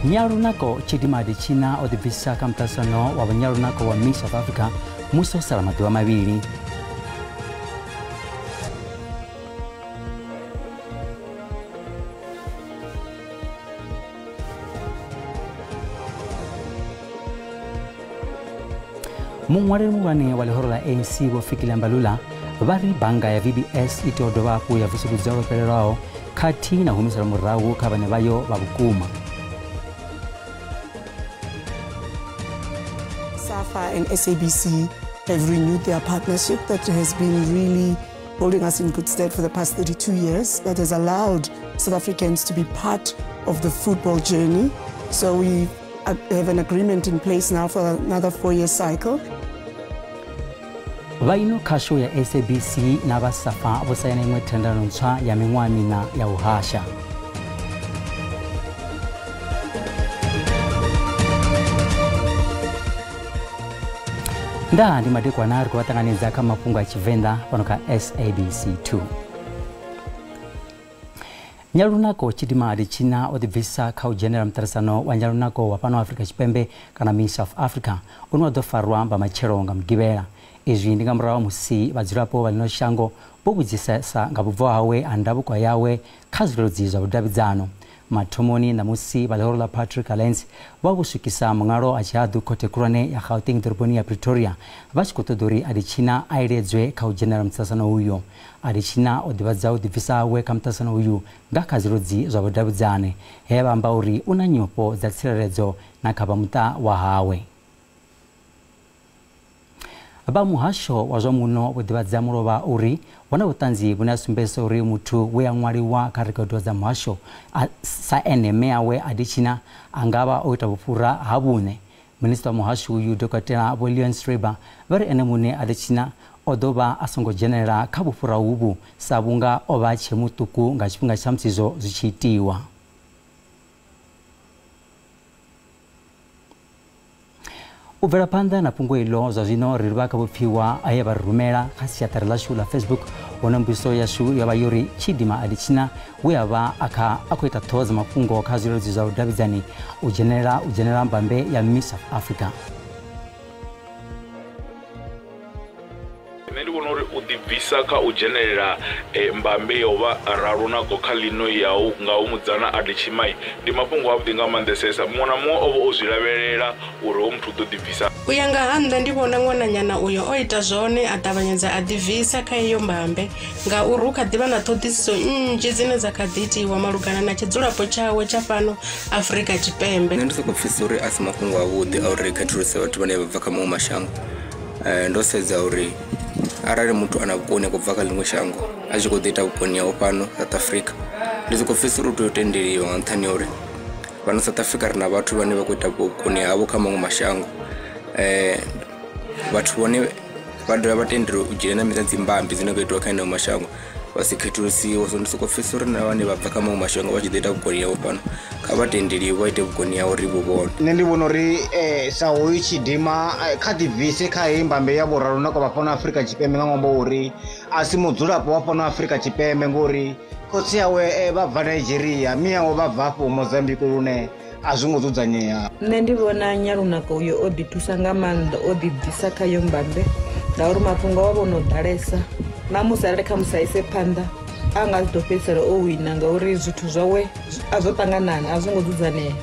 Nyalunako Tshidima Adetshina o ḓibvisa kha muṱaṱisano wa vhanyalunako wa Miss South Africa musi o sala maḓuvha mavhili. Muṅwaleli muhulwane wa ḽihoro ḽa ANC Vho Fikile Mbalula vha ri bannga ya VBS i tea u dovha hafhu ya vusuludza lwo fhelelaho khathihi na humisela murahu kha vhane vhayo vha vhukuma. SAFA and SABC have renewed their partnership that has been really holding us in good stead for the past 32 years, that has allowed South Africans to be part of the football journey. So we have an agreement in place now for another 4-year cycle. Vha ino khasho ya SABC na vha SAFA vho saina iṅwe thendelano ntswa ya miṅwaha miṋa ya u hasha. Nda ndi madekwana ri khou vha ṱanganedza kha mafhungo a Tshivenḓa fhano kha SABC 2. Nyalunako Tshidima Adetshina o ḓibvisa kha u dzhenela muṱaṱisano wa Nyalunako wa fhano Afrika Tshipembe kana Miss South Africa une wa ḓo farwa nga matshelo nga Mugivhela. Izwi ndi nga murahu musi vhadzulapo vha ḽino shango vho vhudzisesa nga vhubvo hawe ha ndavhuko yawe kha zwileludzi zwa vhudavhidzano. Mathomoni ṋamusi vha ḽihoro ḽa Patrick Alliance vha vho swikisa muṅwalo a tshihaḓu khothe khulwane ya Gauteng ḓoroboni ya Pretoria vha tshi khou ṱoḓa uri Adetshina a iledzwe kha u dzhenela muṱaṱisano uyo. Adetshina o ḓivhadza u ḓibvisa hawe kha muṱaṱisano uyu nga kha zwileludzi zwa vhudavhidzani, he vha amba uri u na nyofho dza tsireledzo na kha vha muṱa wa hawe. Vha muhasho wa zwa muno vho ḓivhadza mulovha uri hu na vhuṱanzi vhune ha sumbedzisa uri muthu we a ṅwaliwa kha rekhodo dza muhasho sa ene mme awe Adetshina a nga vha o ita vhufhura ha vhuṋe. Minisiṱa wa muhasho uyu Dokotela Vho Leon Schreiber vha ri ene muṋe Adetshina o ḓo vha a songo dzhenelela kha vhufhura uvhu sa vhunga o vha tshe muṱuku nga tshifhinga tsha musi izwo zwi tshi itiwa. U bvela phanḓa na fhungo iḽo zwa zwino ri livha kha vhupfiwa he vha ri rumela kha siaṱari ḽashu ḽa Facebook, hune mbudziso yashu yo vha yo ri Tshidima Adetshina we a vha a khou ita ṱhoho dza mafhungo kha zwileludzi zwa vhudavhidzani u dzhenela mbambe ya Miss South Africa. Nṋe ndi vhona uri u ḓibvisa kha u dzhenelela mbambe ya u vha ralunako kha ḽino yau nga u mudzana Adetshina ndi mafhungo avhuḓi nga maanḓesesa. Muṅwe na muṅwe o vha o zwi lavhelela uri hoyu muthu u ḓo ḓibvisa. U ya nga ha nṋe ndi vhona ṅwananyana uyo o ita zwone a ṱavhanyedza a ḓibvisa kha iyo mbambe, ngauri hu kha ḓivha na ṱhoḓisiso nnzhi dzine dza kha ḓi itiwa malugana na tshidzulapo tshawe tsha fhano Afrika Tshipembe. Nṋe ndi sokou pfhesesa uri a si mafhungo avhuḓi a uri ri khethuluse vhathu vhane vha bva kha maṅwe mashango. Ndo sedza uri arali muthu ana vhukoni a khou bva kha ḽiṅwe shango a tshi khou ḓi ita vhukoni hawe fhano South Africa, ndi sokou pfhesesa uri u tea u tendeliwa nga nṱhani ha uri fhano South Africa ri na vhathu vhane vha khou ita vhukoni havho kha maṅwe mashango. Vhathu vhone vha dovha vha tendeliwa u dzhena na dzi mbambi dzine khou itiwa kha eneo mashango vha si khethulusiwe. So ndi sokou pfhesesa uri na vhane vha bva kha maṅwe mashango vha tshi ḓo ita vhukoni havho fhano kha vha tendeliwe vha ite vhukoni havho ri vhu vhone. Nṋe ndi vhona uri sa hoyu Tshidima kha ḓibvise kha heyi mbambe ya vhoralunako vha fhano Afrika Tshipembe nga ṅwambo uri a si mudzulapo wa fhano Afrika Tshipembe, ngori khotsi awe vha bva Nigeria, mme awe vha bva afho Mozambique, lune a zwo ngo dzudzanyea. Nṋe ndi vhona Nyalunako uyo o ḓi thusa nga maanḓa, o ḓi bvisa kha yo mbambe ngauri mafhungo a vho no ḓalesa na musi arali kha musi a ise phanḓa a nga ḓo fhedzisela o wina ngauri zwithu zwawe a zwo ṱanganana, a zwo ngo dzudzanea.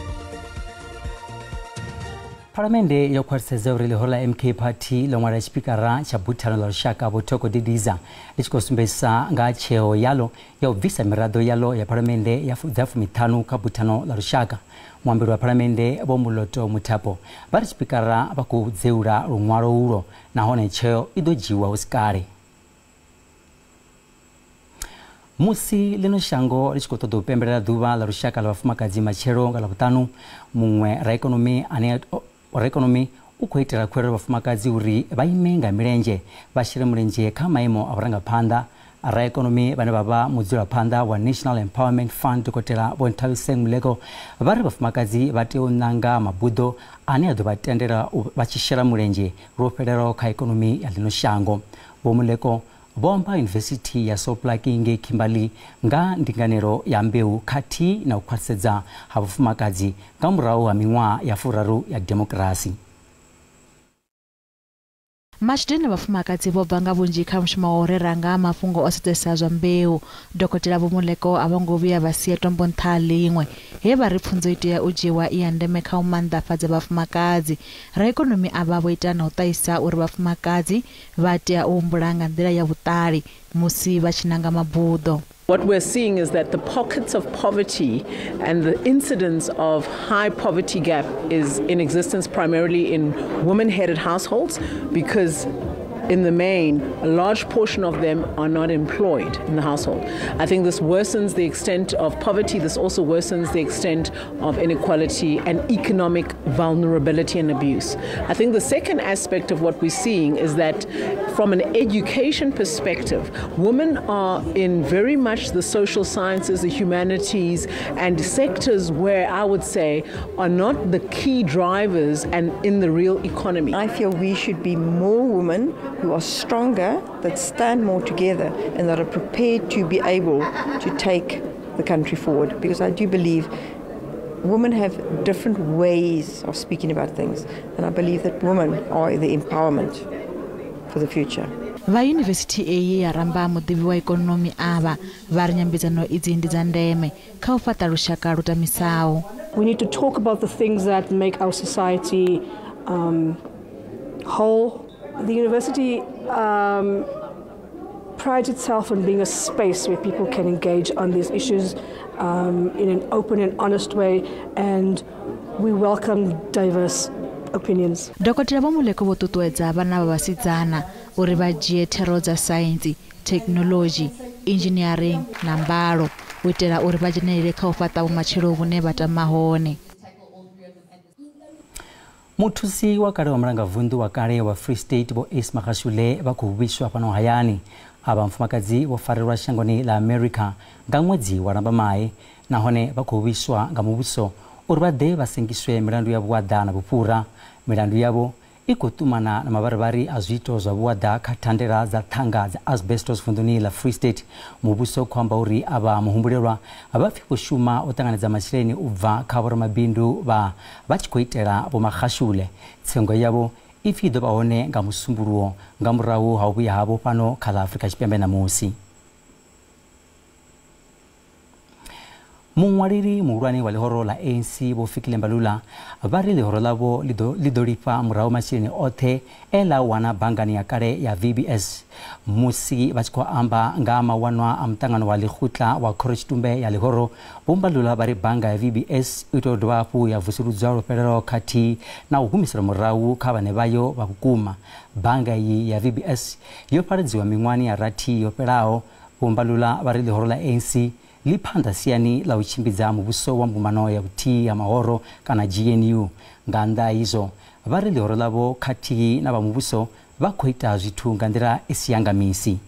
Phalamennde yo khwaṱhisedza uri ḽihoro ḽa MK Party ḽo ṅwala tshipikara tsha buthano ḽa lushaka Vho Thoko Didiza ḽi tshi khou sumbedzisa nga tsheo yaḽo ya u bvisa miraḓo yaḽo ya phalamennde dza 50 kha buthano ḽa lushaka. Muambeli wa phalamennde Vho Moloto Mothapo vha ri tshipikara vha khou dzeula luṅwalo ulwo nahone tsheo i ḓo dzhiwa hu si kale. Musi ḽino shango ḽi tshi khou ṱoḓa u pembelela ḓuvha ḽa lushaka ḽa vhafumakadzi matshelo nga Ḽavhuṱanu, muṅwe raikonomi u khou itela khuwelelo vhafumakadzi uri vha ime nga milenzhe vha shele mulenzhe kha maimo a vhurangaphanḓa. Raikonomi vhane vha vha mudzulaphanḓa wa National Empowerment Fund Dokotela Vho Nthabiseng Moleko vha ri vhafumakadzi vha tea u ṋanga mabuḓo ane a ḓo vha tendela vha tshi shela mulenzhe lwo fhelelaho kha ikonomi ya ḽino shango. Vho Moleko vho amba Yunivesithi ya Sol Plaatje ngei Kimberley nga ndinganelo ya mbeu khathihi na u khwaṱhisedza ha vhafumakadzi nga murahu ha miṅwaha ya 30 ya demokirasi. Matshudeni na vhafumakadzi vho bva nga vhunzhi kha mushumo wa u rera nga mafhungo o sedzesa zwa mbeu. Dokotela Vho Moleko a vho ngo vhuya vha sia tombo nṱha ḽiṅwe, he vha ri pfunzo i tea u dzhiwa i ya ndeme kha u maanḓafhadza vhafumakadzi. Raikonomi avha vho ita na u ṱahisa uri vhafumakadzi vha tea u humbula nga nḓila ya vhuṱali musi vha tshi nanga mabuḓo. What we're seeing is that the pockets of poverty and the incidence of high poverty gap is in existence primarily in women-headed households, because in the main, a large portion of them are not employed in the household. I think this worsens the extent of poverty. This also worsens the extent of inequality and economic vulnerability and abuse. I think the second aspect of what we're seeing is that from an education perspective, women are in very much the social sciences, the humanities, and sectors where I would say are not the key drivers and in the real economy. I feel we should be more women who are stronger, that stand more together, and that are prepared to be able to take the country forward. Because I do believe women have different ways of speaking about things, and I believe that women are the empowerment for the future. Vha yunivesithi eyi ya ramba muḓivhi wa ikonomi avha vha ri nyambedzano idzi ndi dza ndeme kha u fhaṱa lushaka lu tamisaho. We need to talk about the things that make our society whole. The university prides itself on being a space where people can engage on these issues in an open and honest way, and we welcome diverse opinions. Dokotela Vho Moleko vho ṱuṱuwedza vhana vha vhasidzana uri vha dzhie thero dza saintsi, thekhinoḽodzhi, engineering na mbalo u itela uri vha dzhenelele kha u fhaṱa vhumatshelo vhune vha tama hone. Muthusi wa kale wa mulangavunḓu wa kale wa Free State Vho Ace Magashule vha khou vhuiswa fhano hayani. Avha mufumakadzi vho farelwa shangoni ḽa America nga ṅwedzi wa Lambamai, nahone vha khou vhuiswa nga muvhuso uri vha ḓe vha sengiswe milandu ya vhuaḓa na vhufhura. Milandu yavho i khou ṱumana na mavharivhari a zwiito zwa vhuaḓa kha thandela dza ṱhanga dza asbestos vunḓuni ḽa Free State. Muvhuso khou amba uri avha muhumbulelwa vha pfi vho shuma u ṱanganedza masheleni u bva kha vhoramabindu vha tshi khou itela Vho Magashule. Tsengo yavho i pfi i ḓo vha hone nga Musumbuluwo nga murahu ha u vhuya havho fhano kha ḽa Afrika Tshipembe ṋamusi. Muṅwaleli muhulwane wa ḽihoro ḽa ANC Vho Fikile Mbalula vha ri ḽihoro ḽavho ḽi ḓo lifha murahu masheleni oṱhe e ḽa wana banngani ya kale ya VBS. Musi vha tshi khou amba nga mawanwa a muṱangano wa ḽikgotla wa khorotshitumbe ya ḽihoro, Vho Mbalula vha ri bannga ya VBS i tea u dovha hafhu ya vusuludzwa lwo fhelelaho khathihi na u humiselwa murahu kha vhaṋe vhayo vha vhukuma. Bannga iyi ya VBS yo fhaladziwa miṅwahani ya rathi yo fhelaho. Vho Mbalula vha ri ḽihoro ḽa ANC ḽi phanḓa siani ḽa u tshimbidza muvhuso wa mbumbano ya vhuthihi ya mahoro kana GNU. Nga nnḓa ha izwo, vha ri ḽihoro ḽavho khathihi na vha muvhuso vha khou ita zwithu nga nḓila i si ya nga misi.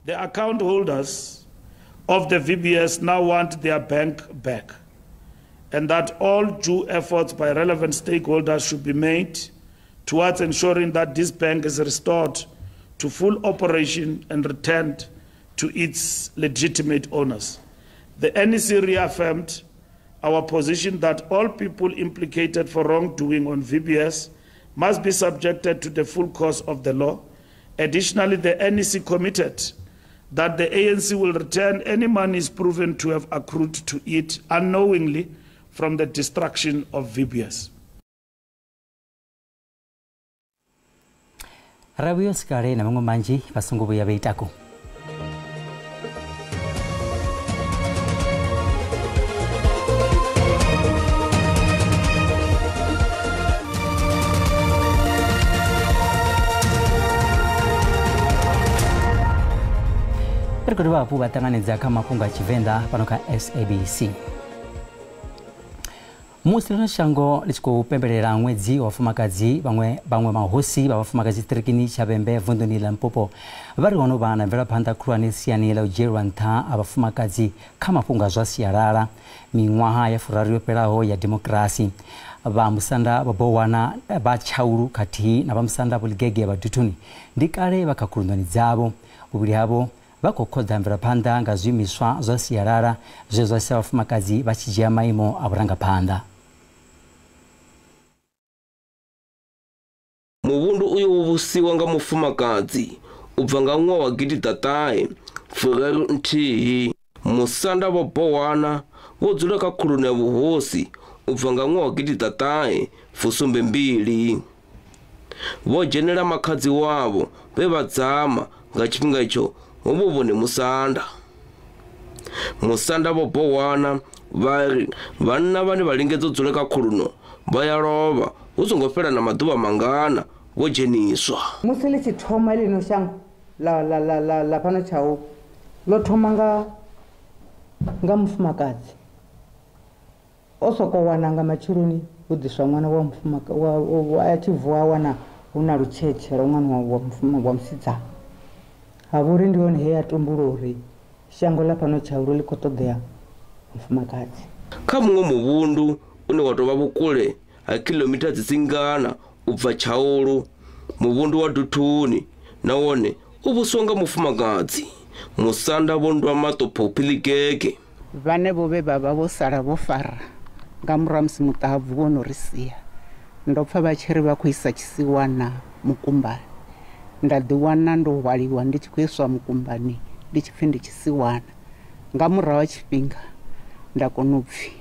The account holders of the VBS now want their bank back, and that all due efforts by relevant stakeholders should be made towards ensuring that this bank is restored to full operation and returned to its legitimate owners. The NEC reaffirmed our position that all people implicated for wrongdoing on VBS must be subjected to the full course of the law. Additionally, the NEC committed that the ANC will return any monies proven to have accrued to it unknowingly from the destruction of VBS. Rabuyo sikale na maṅwe manzhi vha songo vhuya vha itako. Ri khou dovha hafhu vha ṱanganedza kha mafhungo a Tshivenḓa fhano kha SABC. Musi ḽino shango ḽi tshi khou pembelela ṅwedzi wa vhafumakadzi, vhaṅwe mahosi vha vhafumakadzi tshiṱirikini tsha Vhembe vunḓuni ḽa Limpopo vha ri ho no vha na mvelaphanḓa khulwane siani ḽa u dzhielwa nṱha ha vhafumakadzi kha mafhungo a zwa sialala miṅwaha ya 30 yo fhelaho ya demokirasi. Vha musanda vha Bowana vha Tshaulu khathihi na vha musanda vho Ligege vha Duthuni ndi kale vha kha khulunoni dzavho. Vhuvhili havho vha khou khoḓa mvelaphanḓa nga zwiimiswa zwa sialala zwe zwa sia vhafumakadzi vha tshi dzhia maimo a vhurangaphanḓa. Muvhundu uyo wo vhusiwa nga mufumakadzi u bva nga ṅwaha wa 1931. Musanda vho Bowana vho dzula kha khulunu ya vhuhosi u bva nga ṅwaha wa 1972. Vho dzhenela makhadzi wavho vhe vha dzama nga tshifhinga itsho ho vho vhone musanda. Musanda vho Bowana vha ri vhanna vhane vha lingedza u dzula kha khuluno vha ya lovha hu songo fhela na maḓuvha mangana vho dzheniswa. Musi ḽi tshi thoma ḽino shango la fhano Tshaulu ḽo thoma nga mufumakadzi. O soko wana nga matsheloni hu ḓiswa ṅwana wa mufumakadzi, a tshi vuwa wana hu na lutshetshe lwa ṅwana wa musidzana. Ha vhori ndi hone he ya tumbula uri shango ḽa fhano Tshaulu ḽi khou ṱoḓea mufumakadzi. Kha muṅwe muvhundu une wa tou vha vhukule ha kilomita dzi singana u bva Tshaulu, muvhundu wa Duthuni na wone u vhuswa nga mufumakadzi. Musanda vho Ndwamaṱo Phophi Ligege. Vhane vho vhe vha vha vho sala vho fara nga murahu musi muṱahabvu wo no ri sia, ndo pfa vha tshi ri vha khou isa tshisiwana mukumbani. Nda ḓiwana ndo hwaliwa ndi tshi khou iswa mukumbani ndi tshi pfi ndi tshisiwana. Nga murahu ha tshifhinga nda kona u pfi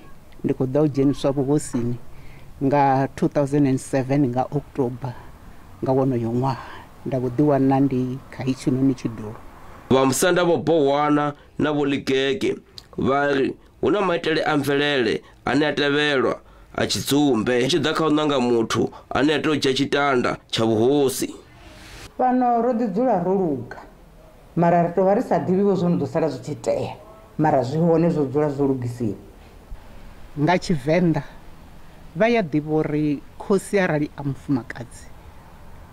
ndi khou ḓa u dzheniswa vhuhosini nga 2007 nga October nga wonoyo ṅwaha, nda vho ḓiwana ndi kha itshinoni tshidulo. Vha musanda vho Bowana na vho Ligege vha ri hu na maitele a mvelele ane a tevhelwa a tshidzumbe tshi ḓa kha u nanga muthu ane a tea u dzhia tshitanda tsha vhuhosi. Fhano ro ḓi dzula ro luga, mara ri tou vha ri sa ḓivhi zwo no ḓo sala zwi tshi itea, mara zwi hone zwo dzula zwo lugisiwa. Nga Tshivenḓa vha ya ḓivha uri khosi arali a mufumakadzi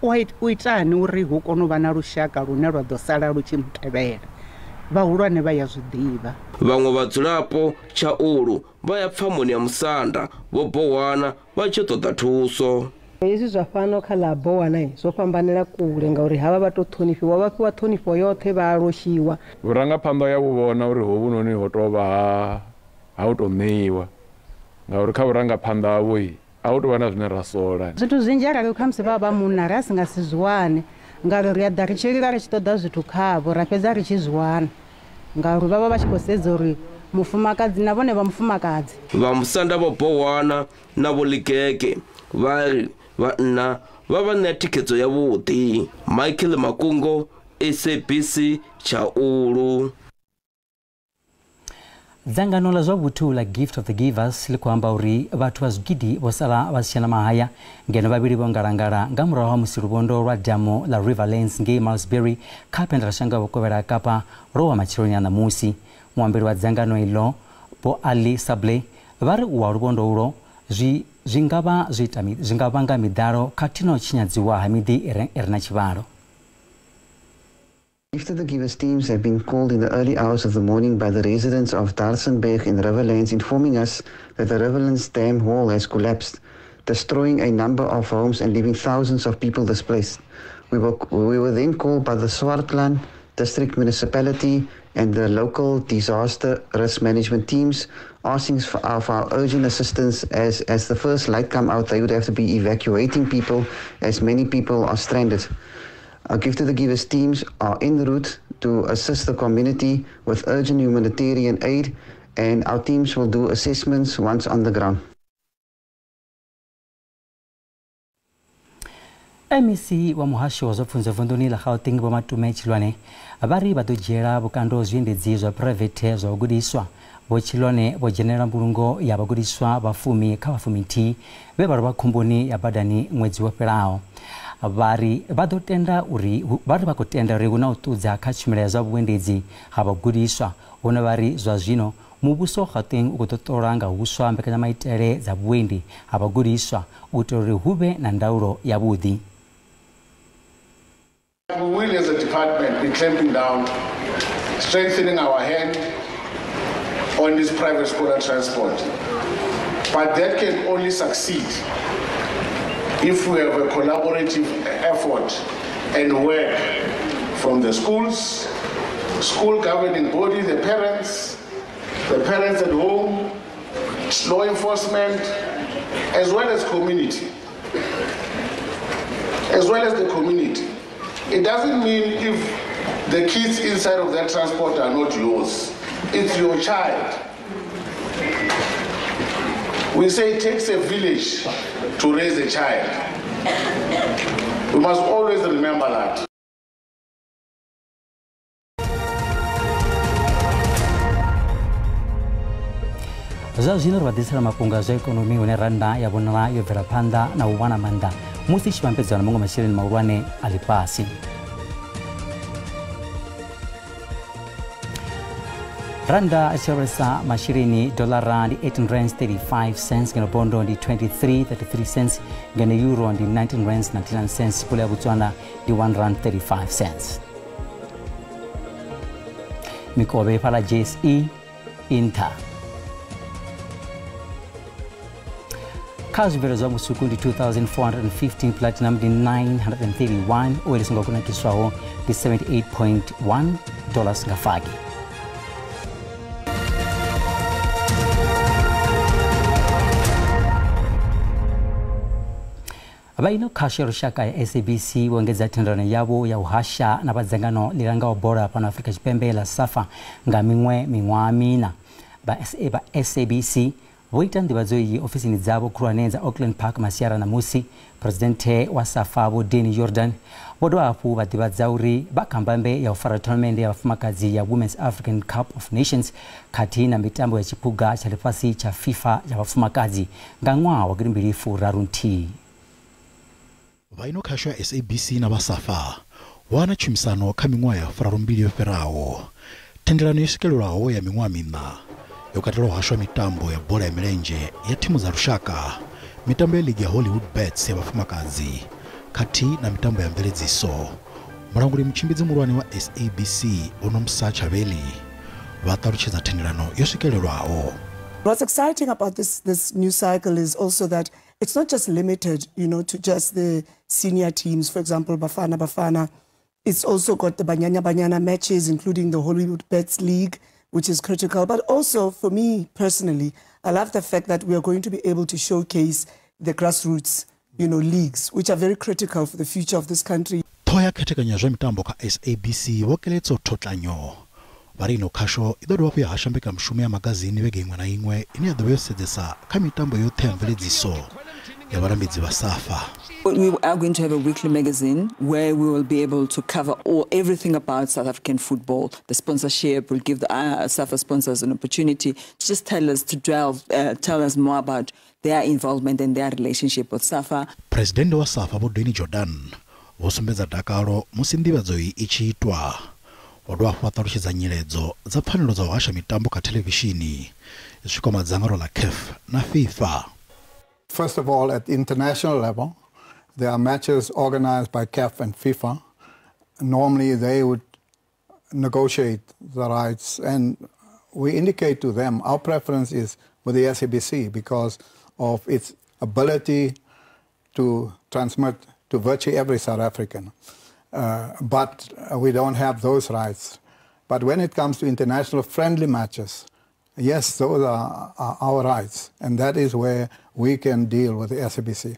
u itani uri hu kone u vha na lushaka lune lwa ḓo sala lu tshi mutevhela. Vhahulwane vha ya zwi ḓivha. Vhaṅwe vhadzulapo Tshaulu vha ya pfamoni ya musanda vho Bowana vha tshi ṱoḓa thuso. Hezwi zwa fhano kha ḽa Bowana zwo fhambanela kule ngauri havha vha tou ṱhonifhiwa, vha fhiwa ṱhonifho yoṱhe, vha loshiwa. Vhurangaphanḓa ya vhu vhona uri hovhunoni ho tou vha ha u tou ṋeiwa, ngauri kha vhurangaphanḓa havho a hu tou vha na zwine ra sola. Zwithu zwinzhi arali khamusi vha vha munna ri a si nga si zwi wane, ngauri ri a ḓa ri tshi lila ri tshi ṱoḓa zwithu khavho ra fhedza ri tshi zwi wana, ngauri vha vha vha tshi khou sedza uri mufumakadzi na vhone vha mufumakadzi. Vha musanda vho Bowana na vho Ligege vha ri vhanna vha vha ṋea thikhedzo yavhuḓi. Michael Makungo, SABC Tshaulu. Dzangano ḽa zwa vhuthu ḽa Gift of the Givers ḽi khou amba uri vhathu vha zwigidi vho sala vha si tshena mahaya ngeno vhavhili vho ngalangala nga murahu ha musi luvhondo lwa damu ḽa Riverlands ngei Malmesbury kha phendelashango ya vhukovhela ha Kapa lwo wa matsheloni a ṋamusi. Muambeli wa dzangano iḽo Vho Ali Sable vha ri u wa luvhondo ulwo zwi nga vhanga miḓalo khathihi na u tshinyadziwa ha miḓi i re na tshivhalo. Gift of the Givers teams have been called in the early hours of the morning by the residents of Darsenberg in Riverlands, informing us that the Riverlands Dam wall has collapsed, destroying a number of homes and leaving thousands of people displaced. We were then called by the Swartland District Municipality and the local disaster risk management teams, asking for our urgent assistance as the first light come out, they would have to be evacuating people as many people are stranded. Our Gift of the Givers teams are en route to assist the community with urgent humanitarian aid, and our teams will do assessments once on the ground. MEC wa muhasho wa zwa pfunzo vunduni ḽa Gauteng Vho Matome Tshilwane vha ri vha ḓo dzhiela vhukando zwiendedzi zwa phuraivethe zwa vhagudiswa. Vho Tshilwane vho dzhenela mbulungo ya vhagudiswa vha 10 kha vha 11 vhe vha lovha khomboni ya badani ṅwedzi wo fhelaho. Vha ri vha ḓo tenda uri vha khou tenda uri hu na u ṱudza kha tshumelo ya zwa vhuendedzi ha vhagudiswa, hune vha ri zwa zwino muvhuso wa Gauteng u khou ṱola nga huswa mbekanyamaitele dza vhuendi ha vhagudiswa u itela uri hu vhe na ndaulo yavhuḓi. We will, as a department, be clamping down, strengthening our hand on this private scholar transport. But that can only succeed if we have a collaborative effort and work from the schools, school governing body, the parents at home, law enforcement, as well as community. As well as the community. It doesn't mean if the kids inside of that transport are not yours. It's your child. We say it takes a village to raise a child. We must always remember that. Zwa zwino ri vha ḓisela mafhungo a zwa ikonomi hune rannda ya vhonala yo bvela phanḓa na u wana maanḓa musi i tshi vhambedzwa na maṅwe masheleni mahulwane a ḽifhasi. Randa a tshi lavhelesa masheleni dolara ndi 18 rands 35 cents, ngeno bondo ndi 23.33 cents, ngeno euro ndi 19 rands 99 cents, pula ya Botswana ndi 1 rand 35 cents. Mikovhe fhala JSE Inter. Kha zwibveledzwa zwa musuku ndi 2415, platinum ndi 931, oil songo kunakiswaho ndi 78.1 dollars nga fagi. Vha ino khasho ya lushaka ya SABC vho engedza thendelano yavho ya u hasha na vha dzangano ḽi langaho bola fhano Afrika Tshipembe ḽa SAFA nga miṅwe miṅwaha miṋa. Vha SABC vho ita nḓivhadzo iyi ofisini dzavho khulwane dza Auckland Park masiara ṋamusi. Presidenthe wa SAFA Vho Danny Jordan vho dovha hafhu vha ḓivhadza uri vha kha mbambe ya u fara tournament ya vhafumakadzi ya Women's African Cup of Nations khathihi na mitambo ya tshiphuga tsha ḽifhasi tsha FIFA ya vhafumakadzi nga ṅwaha wa 2031. Vha ino khasho ya SABC na vha SAFA wana tshumisano kha miṅwaha ya 32 yo fhiraho. Thendelano yo swikelelwaho ya miṅwaha miṋa yo katela u hashwa mitambo ya bola ya milenzhe ya thimu dza lushaka, mitambo ya ligi ya Hollywood Bets ya vhafumakadzi khathihi na mitambo ya mveledziso. Mulanguli mutshimbidzi muhulwane wa SABC Vho Nomsa Chaveli vha ṱalutshedza thendelano yo swikelelwaho. What's exciting about this new cycle is also that it's not just limited, you know, to just the senior teams. For example, Bafana Bafana. It's also got the Banyana Banyana matches, including the Hollywood Bets League, which is critical. But also, for me personally, I love the fact that we are going to be able to showcase the grassroots, you know, leagues, which are very critical for the future of this country. Ṱhoho ya khethekanyo ya zwa mitambo kha SABC Vho Keletso Thotlanyo vha ri ino khasho i ḓo dovha hafhu ya hasha mbekanyamushumo ya magazini vhege iṅwe na iṅwe ine ya ḓo vha yo sedzesa kha mitambo yoṱhe ya mveledziso ya vhalambedzi vha SAFA. We are going to have a weekly magazine where we will be able to cover everything about South African football. The sponsorship will give the SAFA sponsors an opportunity to just tell us, to delve, tell us more about their involvement and their relationship with SAFA. President wa SAFA Vho Danny Jordan vho sumbedza dakalo musi nḓivhadzo iyi i tshi itwa. Vho dovha hafhu vha ṱalutshedza nyiledzo dza pfanelo dza u hasha mitambo kha thelevishini zwi kwama dzangano ḽa CAF na FIFA. First of all, at international level, there are matches organized by CAF and FIFA. Normally, they would negotiate the rights, and we indicate to them our preference is with the SABC because of its ability to transmit to virtually every South African. But we don't have those rights. But when it comes to international friendly matches, yes, those are our rights, and that is where we can deal with the SABC.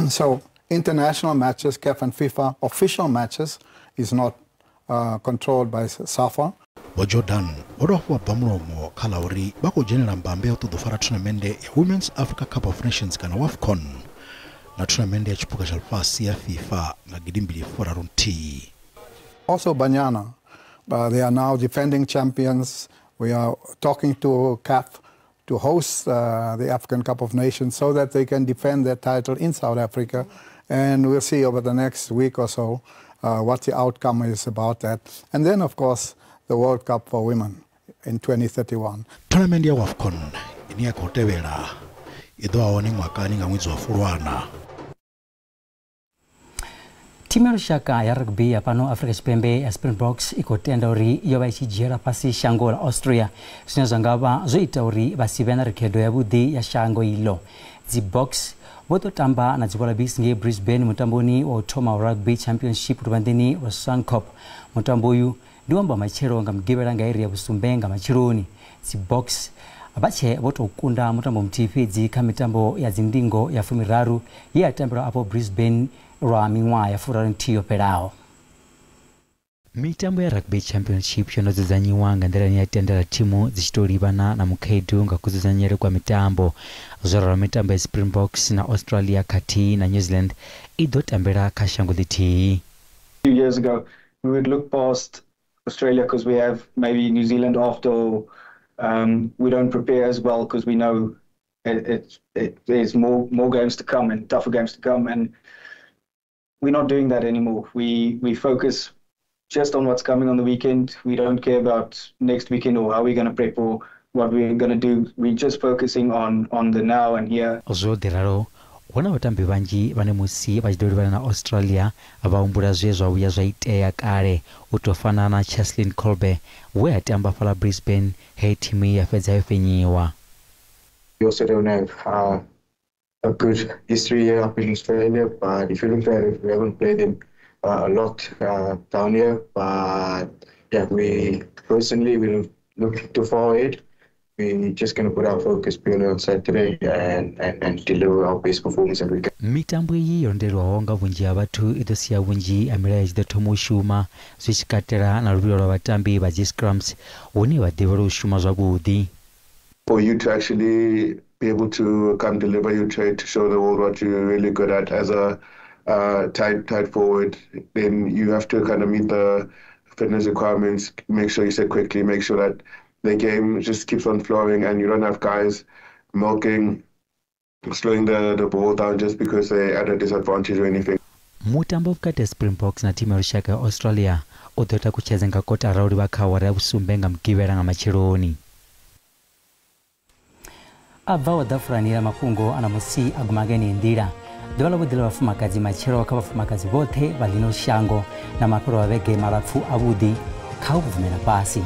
So international matches, CAF and FIFA, official matches, is not controlled by SAFA. Vho Jordan vho dovha hafhu vha bva mulomo kha ḽa uri vha khou dzhenela mbambe ya u ṱoḓa u fara thonamennde ya Women's Africa Cup of Nations kana WAFCON na thonamennde ya tshiphuga tsha ḽifhasi ya FIFA nga 2031. Also Banyana, they are now defending champions. We are talking to CAF to host the African Cup of Nations so that they can defend their title in South Africa. And we'll see over the next week or so what the outcome is about that. And then, of course, the World Cup for Women in 2031. Tournament ya WAFCON ine ya khou tevhela i ḓo vha hone ṅwakani nga ṅwedzi wa Fulwana. Thimu ya lushaka ya rugby ya fhano Afrika Tshipembe ya Springboks i khou tenda uri yo vha i tshi dzhiela fhasi shango ḽa Austria, zwine zwa nga vha zwo ita uri vha si vhe na rekhodo yavhuḓi ya shango iḽo. Dzi Boks vho ḓo tamba na dzi Wallabies ngei Brisbane mutamboni wa u thoma wa Rugby Championship luvhanḓeni lwa Suncorp. Mutambo uyu ndi wa matshelo nga mugivhela nga iri ya 7 nga matsheloni. Dzi Boks vha tshe vho tou kunda mutambo muthihi fhedzi kha mitambo ya dzindingo ya 30 ye ya tambelwa afho Brisbane lwa miṅwaha ya 31 yo fhelaho. Mitambo ya Rugby Championship yo no dzudzanyiwa nga nḓila ine ya tendela thimu dzi tshi tou livhana na mukhaedu nga kudzudzanyele kwa mitambo. Zwo ralo mitambo ya Springboks na Australia khathihi na New Zealand i ḓo tambela kha shango ḽithihi. 2 years ago we would look past Australia because we have maybe New Zealand after. We don't prepare as well because we know there's more games to come and tougher games to come, and we're not doing that anymore. We focus just on what's coming on the weekend. We don't care about next weekend or how we're going to prep or what we're going to do. We're just focusing on the now and here. Zwo ḓiralo hu na vhatambi vhanzhi vhane musi vha tshi ḓo livhana na Australia vha humbula zwe zwa vhuya zwa itea kale, u tou fana na Cheslin Kolbe we a tamba fhaḽa Brisbane he thimu ya fhedza yo fhenyiwa. We also don't have a good history here up in Australia, but if you look at it, we haven't played them a lot down here. But yeah, we personally, we don't look too far ahead. We're just going to put our focus purely on Saturday and deliver our best performance that we can. Mitambo iyi yo londelwaho nga vhunzhi ha vhathu i ḓo sia vhunzhi ha milayo i tshi ḓo thoma u shuma, zwi tshi katela na luvhilo lwa vhatambi vha dzi scrums hune vha ḓivhelwa u shuma zwavhuḓi. For you to actually be able to come deliver your trade, to show the world what you're really good at as a tight forward, then you have to kind of meet the fitness requirements, make sure you set quickly, make sure that the game just keeps on flowing and you don't have guys milking, slowing the ball down just because they're at a disadvantage or anything. Mutambo vhukati ha Springboks na thimu ya lushaka ya Australia u ḓo takutshedza nga kotara u livha kha awara ya 7 nga mugivhela nga matsheloni. A bvaho ḓafulani ya mafhungo a ṋamusi a guma nga yeneyi nḓila. Ḓuvha ḽa vhuḓi ḽa vhafumakadzi matshelo kha vhafumakadzi vhoṱhe vha ḽino shango na mafhelo a vhege malapfu avhuḓi kha u bvumela fhasi.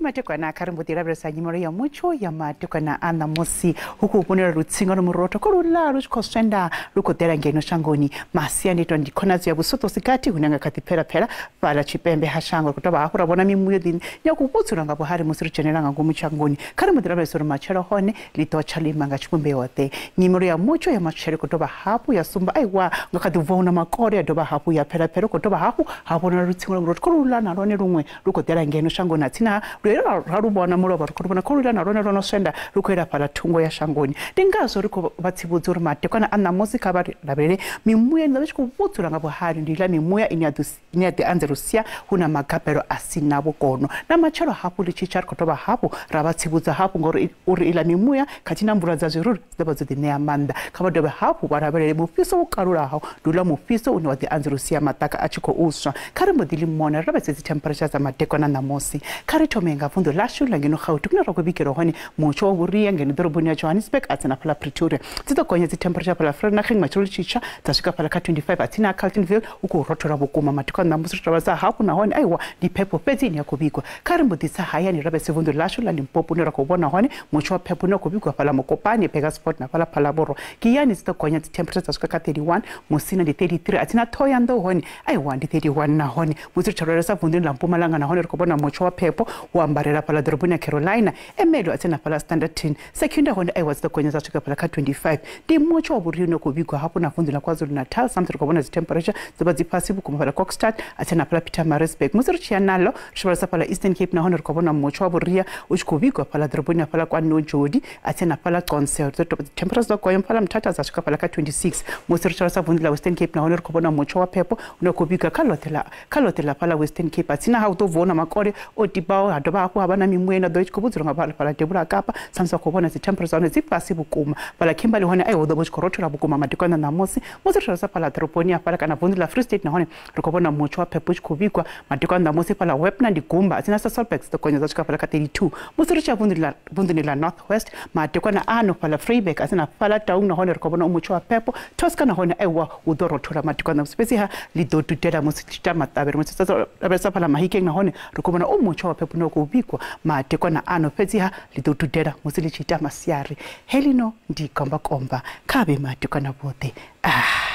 Matekwana kha ri mbo ḓi lavhelesa nyimelo ya mutsho ya matekwana a ṋamusi hu khou vhonela lutsinga lwa murotho ko luḽa lu tshi khou swenda lu khou ḓela ngeno shangoni. Masiandoitwa ndi khonadzo ya vhusoṱo sikati hune nga kha ḓi phelapfhela fhaḽa tshipembe ha shango. Ri khou dovha hafhu ra vhona mimuya ḓi ya khou vhudzula nga vhuhali musi ri dzhenela nga ngomu shangoni. Kha ri mbo ḓi lavhelesa uri matshelo hone ḽi ḓo tsha lima nga tshivhumbeo ḓe. Nyimelo ya mutsho ya matshelo i khou dovha hafhu ya sumba aiwa nga kha ḓi bva hu na makole ya dovha hafhu ya phelapfhela, khou dovha hafhu ha vhonala lutsinga lwa murotho ko luḽa na lwone luṅwe lu khou ḓela ngeno shangoni. Atsina ra lu vhona mulovha ri khou vhona kho luḽa na lwone lwo no swenda lu khou ela fhaḽa thungo ya shangoni. Ndi ngazwo ri khou vha tsivhudza uri matekwana a ṋamusi kha vha lavhelele mimuya ine vha tshi khou vhudzula nga vhuhali, ndi iḽa mimuya ine ya ḓi anzela u sia hu na magabelo a si na vhukono. Na matshelo hafhu ḽi tshi tsha ri khou dovha hafhu ra vha tsivhudza hafhu ngori uri iḽa mimuya khathihi na mvula dza zwirulu dzi ḓo vha dzo ḓi ṋea maanḓa. Kha vha dovhe hafhu vha lavhelele mufhiso wo kalulaho, ndi uḽa mufhiso une wa ḓi anzela u sia maṱaka a tshi khou swa. Kha ri mbo ḓi limona ri lavhelese dzi temperature dza matekwana ṋamusi. Kha ri thome nga vunḓu ḽashu ḽa ngeno Gauteng kune ra khou vhigelwa hone mutsho wa vhuria ngeno ḓoroboni ya Johannesburg a tsena fhaḽa Pretoria. Dzi ḓo gonya dzi temperature fhaḽa Vereeniging matshelo tshitsha dza swika fhaḽa kha 25 a tsini ha Carltonville u khou rothola vhukuma. Matekwana ṋamusi ri tovha hafhu nahone aiwa ndi phepho fhedzi ine ya khou vhigwa. Kha ri mbo ḓi tsa hayani lavhelese vunḓu ḽashu ḽa Limpopo hune ra khou vhona hone mutsho wa phepho une wa khou vhigwa fhaḽa Mokopane, Burgersfort na fhaḽa Phalaborwa. Giyani dzi ḓo gonya dzi temperature dza swika kha 31, Musina ndi 33 a tsina Thohoyandou hone aiwa ndi 31 nahone. Musi ri tshi lavhelesa vunḓuni ḽa Mpumalanga nahone ri khou vhona mutsho wa phepho wo ambarela fhaḽa ḓoroboni ya Carolina, Ermelo a tsena fhaḽa Standerton, Secunda hone aiwa dzi ḓo gonya dza swika fhaḽa kha 25. Ndi mutsho wa vhuria une khou vhigwa hafhu na vunḓu ḽa KwaZulu-Natal samusi ri khou vhona dzi temperature dzo vha dzi fhasi vhukuma fhaḽa Kokstad a tsena fhaḽa Pietermaritzburg. Musi ri tshi ya nalo ri tshi vhalesa fhaḽa Eastern Cape nahone ri khou vhona mutsho wa vhuria u tshi khou vhigwa fhaḽa ḓoroboni ya fhaḽa kwa Nojodi a tsena fhaḽa Qonce, dzi temperature dzo gonya fhaḽa Mthatha dza swika fhaḽa kha 26. Musi ri tshi vhalesa vunḓu ḽa Western Cape nahone ri khou vhona mutsho wa phepho une khou vhigwa kha ḽoṱhe ḽa fhaḽa Western Cape a tsina ha u ḓo vhona makole o tibaho ha dovha dovha hafhu ha vha na mimuya ino ḓo i tshi khou vhudzulwa nga fhaḽa devhula Kapa sa musi vha khou vhona dzi temperature hone dzi fhasi vhukuma. Fhaḽa Kimberley hone ai hu ḓo vha hu tshi khou rothola vhukuma madekwana ṋamusi. Musi ri tshi fhaḽa ḓoroboni ya fhaḽa kana vunḓu ḽa Free State nahone ri khou vhona mutsho wa phepho u tshi khou vhigwa madekwana ṋamusi fhaḽa Wepner ndi gumba a tsina Sasolburg dzi ḓo gonya dza swika fhaḽa kha 32. Musi ri tshi ya vunḓuni ḽa North West madekwana ano fhaḽa Vryburg a tsina fhaḽa Taung nahone ri khou vhona mutsho wa phepho. Tosca nahone aiwa hu ḓo rothola madekwana ṋamusi, fhedziha ḽi ḓo dudela musi tshi ita maṱavhelo. Musi lavhelesa fhaḽa Mahikeng nahone ri khou vhona mutsho wa phepho une wa khou vhigwa madekwana ano, fhedziha ḽi ḓo dudela musi ḽi tshi ita masiari. Helino ndi kombakomba kha vhe madekwana vhoṱhe.